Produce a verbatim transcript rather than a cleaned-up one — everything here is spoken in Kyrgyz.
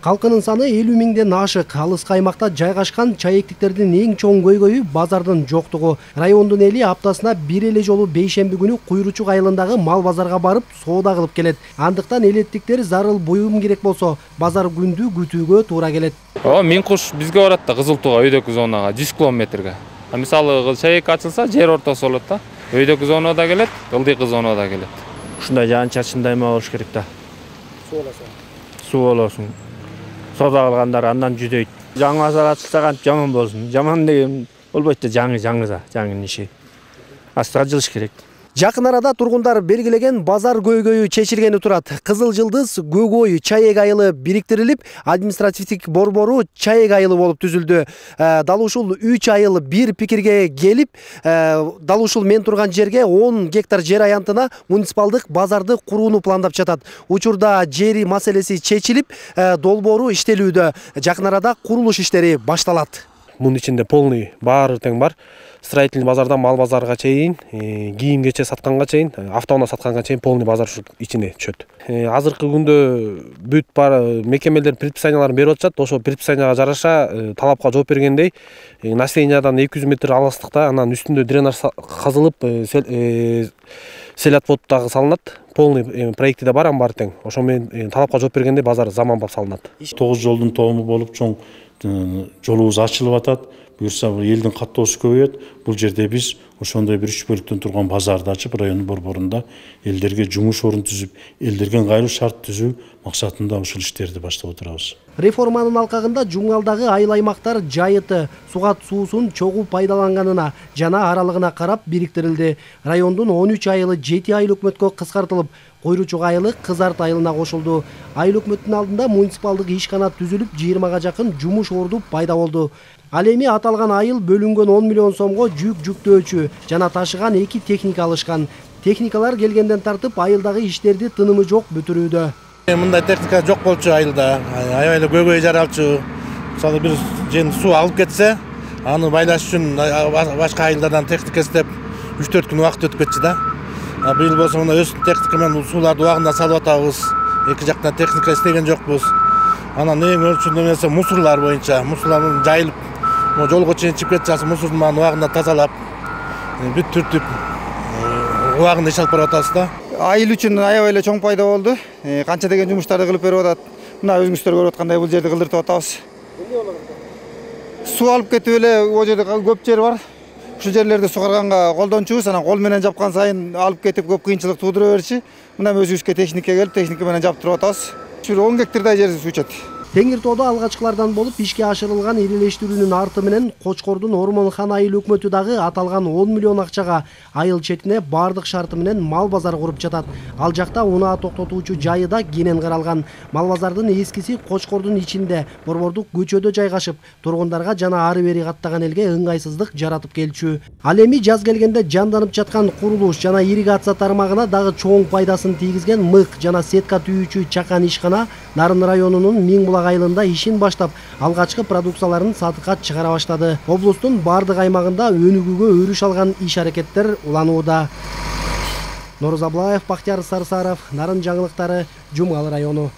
Халкынын саны элүү миңден ашык. Алыскы аймакта жайгашкан чаектиктердин эң чоң көйгөйү базардын жоктугу. Райондун эли аптасына бир эле жолу бейшемби күнү Куйручук айылындагы мал базарга барып соода кылып келет. Андыктан элеттиктер зарыл буюм керек болсо, базар күндү күтүүгө туура келет. О, миң куш бизге барат да Кызыл Тууга, өйдөкү зонага жүз километрге. А мисалы чаек ачылса, жер ортосу болот да. Өйдөкү зонага да келет, ылдыйкы зонага да келет. Ушундай жаан-чачын дайыма болуш керек да. Суу болосун. Суу болосун. Соода кылгандар андан жүдөйт. Жаңы базар ачылса кантип жаман болсун. Жаман деген болбойт да, жаңы жаңы да, жаңынын иши. Астыга жылыш керек. Жакын арада тургундар белгилеген базар көйгөйү чечилгени турат. Кызыл Жылдыз Көкөй чаек айылы бириктирилип, административдик борбору чаек айылы болуп түзүлдү. Дал ушул үч айыл бир пикирге келип, дал ушул мен турган жерге он гектар жер аянтына муниципалдык базарды курууну пландап жатат. Учурда жери маселеси чечилип, долбоору иштелүүдө. Жакын арада курулуш иштери башталат. Мунун ичинде полный баары тең бар. Строительный базардан мал базарга чейин, кийим кече сатканга чейин, автоунаа сатканга чейин полный базар ушул ичине түшөт. Азыркы күндө бүт бар мекемелер предписанияларын берип атышат. Ошо предписанияга жараша талапка жооп бергендей, населениядан эки жүз метр алыстыкта, анан үстүндө дренаж казылып, селят подтагы салынат. Полный проекти да бар, ам бар тең. Ошо менен талапка жооп бергенде базар заманбап салынат. тогуз жолдун тому болуп чоң жолубуз ачылып атат. Буюрса элдин каттоосу көбөйөт. Бул жерде биз ошондой бир үч бөлүктөн турган базарды ачып, район борборунда элдерге жумуш орун түзүп, элдерге ыңгайлуу шарт түзүү максатында ушул иштерди баштап отурабыз. Реформанын алкагында жумгалдагы айыл аймактар жайыты, сугат суусун чогуу пайдаланганына жана аралыгына карап бириктирилди. Райондун он үч айылы жети айыл өкмөткө кыскартылып, Куйручук айылы Кызарт айылына кошулду. Айыл өкмөттүн алдында муниципалдык ишкана түзүлүп, жыйырмага жакын жумуш орду пайда болду. Ал эми аталган айыл бөлүнгөн он миллион сомго жүк жүктөөчү жана ташыган эки техника алышкан. Техникалар келгенден тартып айылдагы иштерди тынымы жок бүтүрүүдө. Мындай техника жок болчу айылда. Аябай эле көйгөй жаралчу. Мисалы бир жен суу алып кетсе, аны байлаш үчүн башка айылдардан техника издеп үч төрт күн убакыт өтүп кетчү да. Быйыл болсо мына өз техника менен сууларды убагында салып атабыз. Эки жактан техника издеген жокпуз. Анан эң өрчүндүү нерсе мусорлар боюнча. Мусорлар жайылып, жолго чейин чыгып кетчү, мусордун баарын убагында тазалап, бүт түртүп, убагында иш алып барып атабыз да. Айыл үчүн аябай эле чоң пайда болду. Канча деген жумуштарды кылып берип атат. Мына өзүңүздөр көрүп аткандай бул жерди кылдыртып атабыз. Суу алып кетип эле о жерде көп жер бар. Ушул жерлерди сугарганга колдончубуз, анан кол менен жапкан сайын алып кетип көп кыйынчылык туудура берчи. Мына өзүбүзгө техника келип, техника менен жаптырып атабыз. Ушул он гектардай жер суу ичет. Теңир тоодо алгачкылардан болуп ишке ашырылган ирелештирүүнүн арты менен Кочкордун Ормонхан айыл өкмөтү дагы аталган он миллион акчага айыл четине бардык шарты менен мал базар куруп жатат. Ал жакта унаа токтотуучу жайы да кенен каралган. Мал базардын эскиси Кочкордун ичинде, борбордук көчөдө жайгашып, тургундарга жана ары бери каттаган элге ыңгайсыздык жаратып келчү. Ал эми жаз келгенде жанданып жаткан курулуш жана ирригация тармагына дагы чоң пайдасын тийгизген мык жана сетка түйүүчү чакан ишкана Нарын районунун Миңбулак айылында ишин баштап, алгачкы продукцияларын сатыкка чыгара баштады. Облустун бардык аймагында өнүгүүгө өрүш алган иш аракеттер уланууда. Норuz Аблаев, Бактияр Сарсаров, Нарын жаңылыктары, Жумгал району.